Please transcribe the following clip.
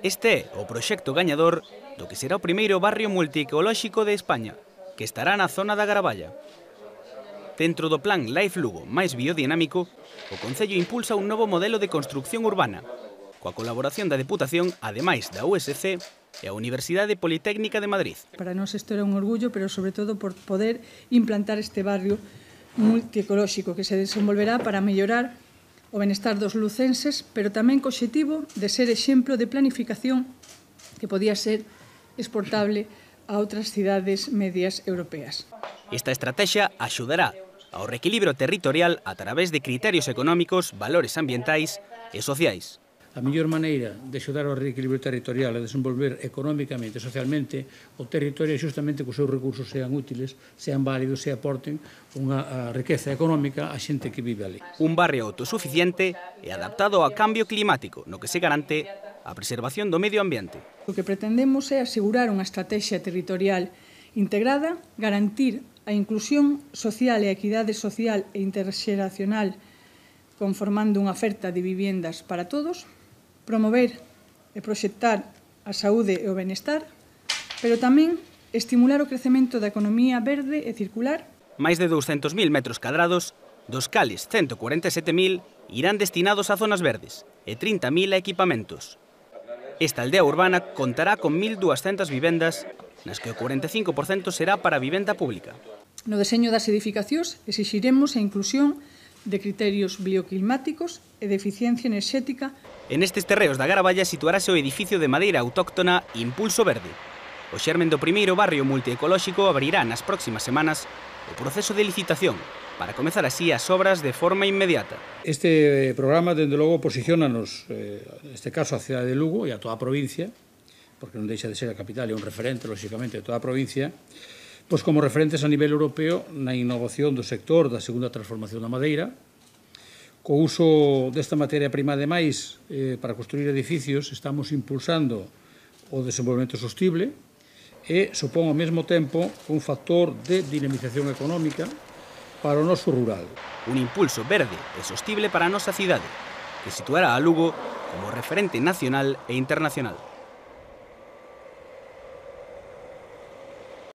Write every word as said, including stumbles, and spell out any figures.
Este é o proxecto gañador do que será o primeiro barrio multiecolóxico de España, que estará na zona da Garaballa. Dentro do plan Life Lugo máis biodinámico, o Concello impulsa un novo modelo de construcción urbana, coa colaboración da Deputación, ademais da U S C e a Universidade Politécnica de Madrid. Para nós isto era un orgullo, pero sobre todo por poder implantar este barrio multiecolóxico que se desenvolverá para mellorar o benestar dos lucenses, pero tamén co obxectivo de ser exemplo de planificación que podía ser exportable a outras cidades medias europeas. Esta estrategia axudará ao reequilibrio territorial a través de criterios económicos, valores ambientais e sociais. A mellor maneira de axudar ao reequilibrio territorial e desenvolver económicamente e socialmente o territorio é xustamente que os seus recursos sean útiles, sean válidos e aporten unha riqueza económica á xente que vive ali. Un barrio autosuficiente e adaptado ao cambio climático, no que se garante a preservación do medio ambiente. O que pretendemos é asegurar unha estrategia territorial integrada, garantir a inclusión social e a equidade social e interxeracional conformando unha oferta de viviendas para todos, promover e proxectar a saúde e o benestar, pero tamén estimular o crecemento da economía verde e circular. Máis de douscentos mil metros cadrados, dos cales ciento cuarenta e sete mil irán destinados a zonas verdes e trinta mil a equipamentos. Esta aldea urbana contará con mil duascentas vivendas, nas que o cuarenta e cinco por cento será para a vivenda pública. No deseño das edificacións exixiremos a inclusión de criterios bioclimáticos e de eficiencia enerxética. En estes terreos da Garaballa situarase o edificio de madeira autóctona Impulso Verde. O xermen do primeiro barrio multiecolóxico abrirá nas próximas semanas o proceso de licitación para comezar así as obras de forma inmediata. Este programa, dende logo, posiciona-nos, neste caso, a cidade de Lugo e a toda a provincia, porque non deixa de ser a capital e un referente, lóxicamente, de toda a provincia, pois como referentes a nivel europeo na innovación do sector da segunda transformación da madeira, co uso desta materia prima, ademais, eh, para construir edificios, estamos impulsando o desenvolvemento sostible e supón ao mesmo tempo un factor de dinamización económica para o noso rural. Un impulso verde e sostible para a nosa cidade, que situará a Lugo como referente nacional e internacional.